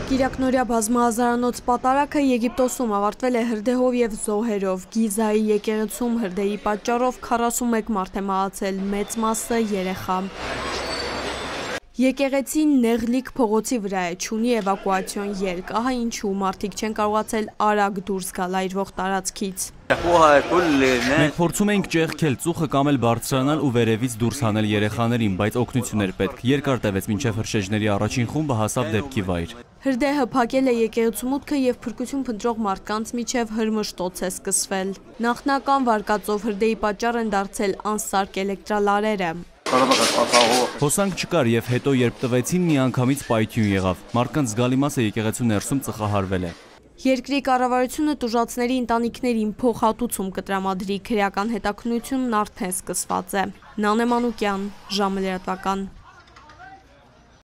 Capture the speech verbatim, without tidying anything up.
Կիրակնորյա բազմահազարանոց պատարակը Եգիպտոսում ավարտվել է հրդեհով և զոհերով։ Գիզայի եկեղեցում հրդեհի պատճառով քառասունմեկ մարդ է մահացել, մեծ մասը երեխա։ Եկեղեցին Նեղլիկ փողոցի վրա է, չունի էվակուացիոն ելք, ահա ինչու մարդիկ չեն կարողացել արագ դուրս գալ այրվող տարածքից։ Մենք փորձում էինք ճեղքել ծուխը կամ էլ բարձրանալ ու վերևից դուրս հանել երեխաներին, բայց օգնություն էր պետք։ Երկար տևեց, մինչև հրշեջների առաջին խումբը հասավ դեպքի վայր։ Հրդեհը փակել է եկեղեցու մուտքը և փրկություն փնտրող մարդկանց միջև հրմշտոց է սկսվել։ Նախնական վարկածով հրդեհի պատճառ են դարձել անսարք էլեկտրալարերը։ Հոսանք չկար և հետո երբ տվեցին միանգամից պայթյուն եղավ։ Մարդկանց զգալի մասը եկեղեցու ներսում ծխահարվել է։ Երկրի կառավարությունը տուժածների ընտանիքներին փոխհատուցում կտրամադրի, քրեական հետաքննությունն արդեն սկսված է։ Նանե Մանուկյան, ժամը լրատվական։